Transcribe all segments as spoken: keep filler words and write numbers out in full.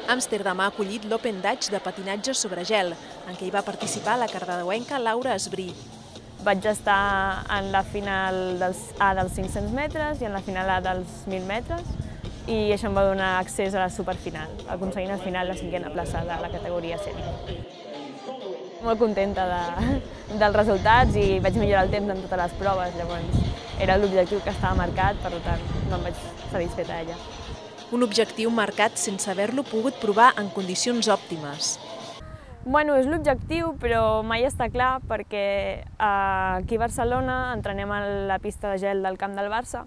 Amsterdam ha acollit l'Open Dutch de patinatge sobre gel, en què hi va participar la cardedeuenca Laura Esbrí. Vaig estar en la final dels A dels cinc-cents metres i en la final A dels mil metres, i això em va donar accés a la superfinal, aconseguint al final la cinquena plaça de la categoria sènior. Molt contenta de, dels resultats i vaig millorar el temps en totes les proves, llavors era l'objectiu que estava marcat, per tant no em vaig satisfeta a ella. Un objectiu marcat sense haver-lo pogut provar en condicions òptimes. Bueno, és l'objectiu, però mai està clar perquè aquí a Barcelona entrenem a la pista de gel del camp del Barça,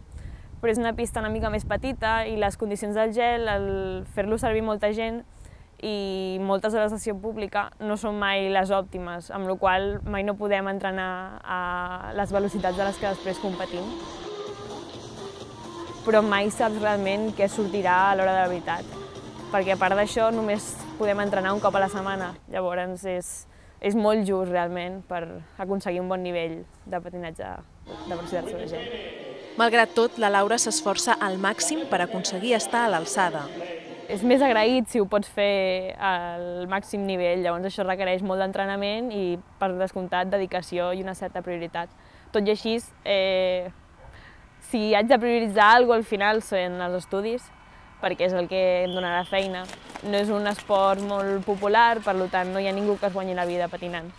però és una pista una mica més petita i les condicions del gel, el fer-lo servir molta gent i moltes hores de sessió pública no són mai les òptimes, amb la qual cosa mai no podem entrenar a les velocitats a les que després competim. Però mai saps realment què sortirà a l'hora de la veritat, perquè a part d'això només podem entrenar un cop a la setmana, llavors és, és molt just realment per aconseguir un bon nivell de patinatge de velocitat sobre gel. Malgrat tot, la Laura s'esforça al màxim per aconseguir estar a l'alçada. És més agraït si ho pots fer al màxim nivell, llavors això requereix molt d'entrenament i, per descomptat, dedicació i una certa prioritat. Tot i així, eh, si haig de prioritzar alguna cosa al final són els estudis, perquè és el que em donarà feina. No és un esport molt popular, per tant no hi ha ningú que es guanyi la vida patinant.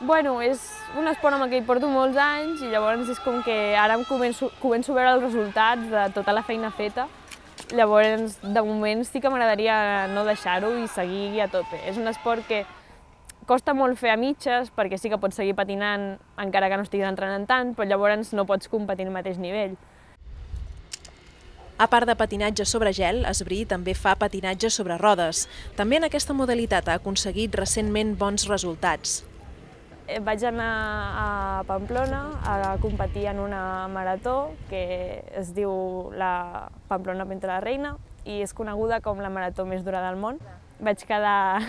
Bueno, és un esport amb el que hi porto molts anys i llavors és com que ara em començo, començo a veure els resultats de tota la feina feta. Llavors, de moment sí que m'agradaria no deixar-ho i seguir a tope. És un esport que costa molt fer a mitges, perquè sí que pots seguir patinant encara que no estiguis entrenant tant, però llavors no pots competir al mateix nivell. A part de patinatge sobre gel, Esbrí també fa patinatge sobre rodes. També en aquesta modalitat ha aconseguit recentment bons resultats. Vaig anar a Pamplona a competir en una marató que es diu la Pamplona Pinta la Reina i és coneguda com la marató més dura del món. Vaig quedar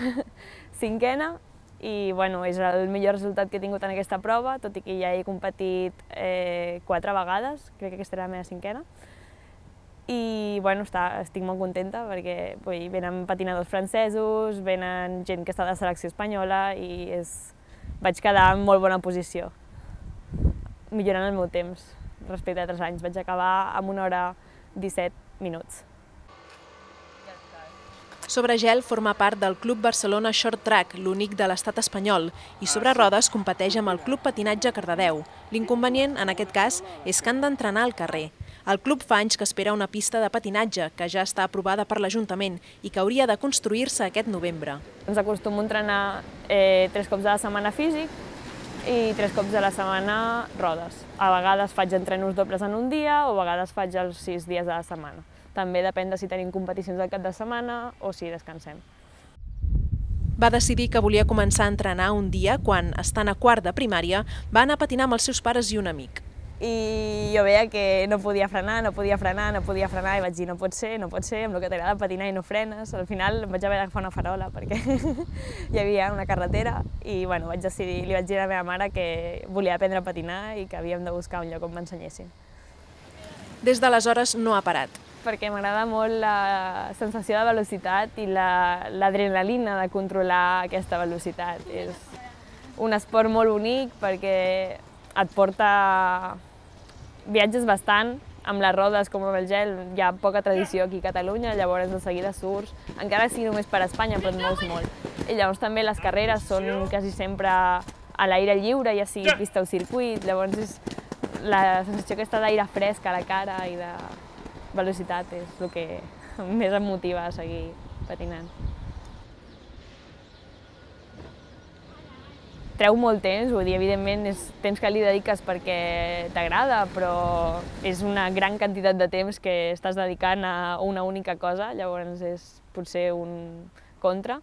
cinquena i bueno, és el millor resultat que he tingut en aquesta prova, tot i que ja he competit eh, quatre vegades, crec que aquesta era la meva cinquena. I bueno, està, estic molt contenta perquè vull, venen patinadors francesos, venen gent que està de selecció espanyola i és, vaig quedar en molt bona posició, millorant el meu temps respecte a altres anys. Vaig acabar amb una hora disset minuts. Sobre gel forma part del Club Barcelona Short Track, l'únic de l'estat espanyol, i sobre rodes competeix amb el Club Patinatge Cardedeu. L'inconvenient, en aquest cas, és que han d'entrenar al carrer. El club fa anys que espera una pista de patinatge, que ja està aprovada per l'Ajuntament i que hauria de construir-se aquest novembre. Ens acostumo a entrenar eh, tres cops a la setmana físic i tres cops a la setmana rodes. A vegades faig entrenos dobles en un dia o a vegades faig els sis dies a la setmana. També depèn de si tenim competicions al cap de setmana o si descansem. Va decidir que volia començar a entrenar un dia quan, estant a quart de primària, va anar a patinar amb els seus pares i un amic. I jo veia que no podia frenar, no podia frenar, no podia frenar i vaig dir no pot ser, no pot ser, amb el que t'agrada patinar i no frenes. Al final em vaig haver d'agafar una farola perquè hi havia una carretera i bueno, vaig decidir, li vaig dir a la meva mare que volia aprendre a patinar i que havíem de buscar un lloc on m'ensenyessin. Des d'aleshores no ha parat. Perquè m'agrada molt la sensació de velocitat i l'adrenalina de controlar aquesta velocitat. És un esport molt bonic perquè et porta viatges bastant, amb les rodes com amb el gel, hi ha poca tradició aquí a Catalunya, llavors de seguida surts, encara sigui només per Espanya, però et mous molt. I llavors també les carreres són quasi sempre a l'aire lliure, ja sigui pista o circuit, llavors és la sensació aquesta d'aire fresc a la cara i de velocitat és el que més em motiva a seguir patinant. Treu molt temps, vull dir, evidentment és temps que li dediques perquè t'agrada, però és una gran quantitat de temps que estàs dedicant a una única cosa, llavors és potser un contra.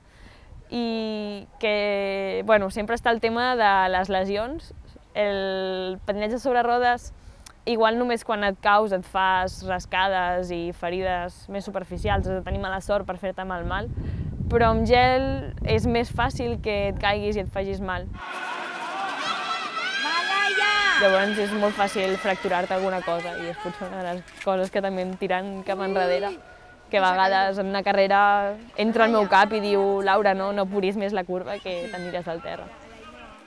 I que, bueno, sempre està el tema de les lesions. El patinatge sobre rodes, igual només quan et caus et fas rascades i ferides més superficials, has de tenir mala sort per fer-te mal mal, però amb gel és més fàcil que et caiguis i et facis mal. Llavors és molt fàcil fracturar-te alguna cosa i és potser una de les coses que també em tiren cap enrere que a vegades en una carrera entra al meu cap i diu Laura, no, no puris més la curva que t'aniràs al terra.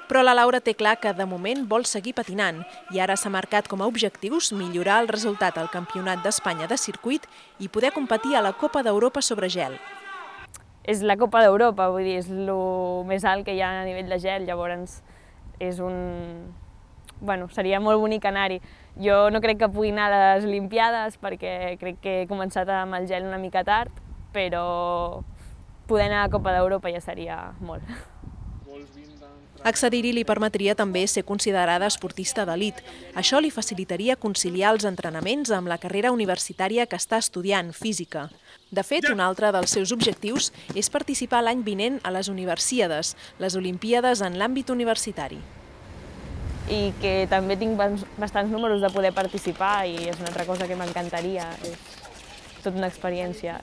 Però la Laura té clar que de moment vol seguir patinant i ara s'ha marcat com a objectius millorar el resultat al Campionat d'Espanya de circuit i poder competir a la Copa d'Europa sobre gel. És la Copa d'Europa, vull dir, és el més alt que hi ha a nivell de gel, llavors és un... Bueno, seria molt bonic anar-hi. Jo no crec que pugui anar a les Olimpiades perquè crec que he començat amb el gel una mica tard, però poder anar a la Copa d'Europa ja seria molt. Accedir-hi li permetria també ser considerada esportista d'elit. Això li facilitaria conciliar els entrenaments amb la carrera universitària que està estudiant, física. De fet, un altre dels seus objectius és participar l'any vinent a les Universiades, les Olimpíades en l'àmbit universitari. I que també tinc bastants números de poder participar i és una altra cosa que m'encantaria. És tota una experiència.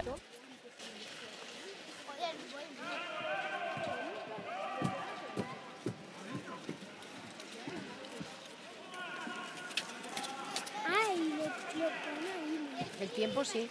El tiempo sí.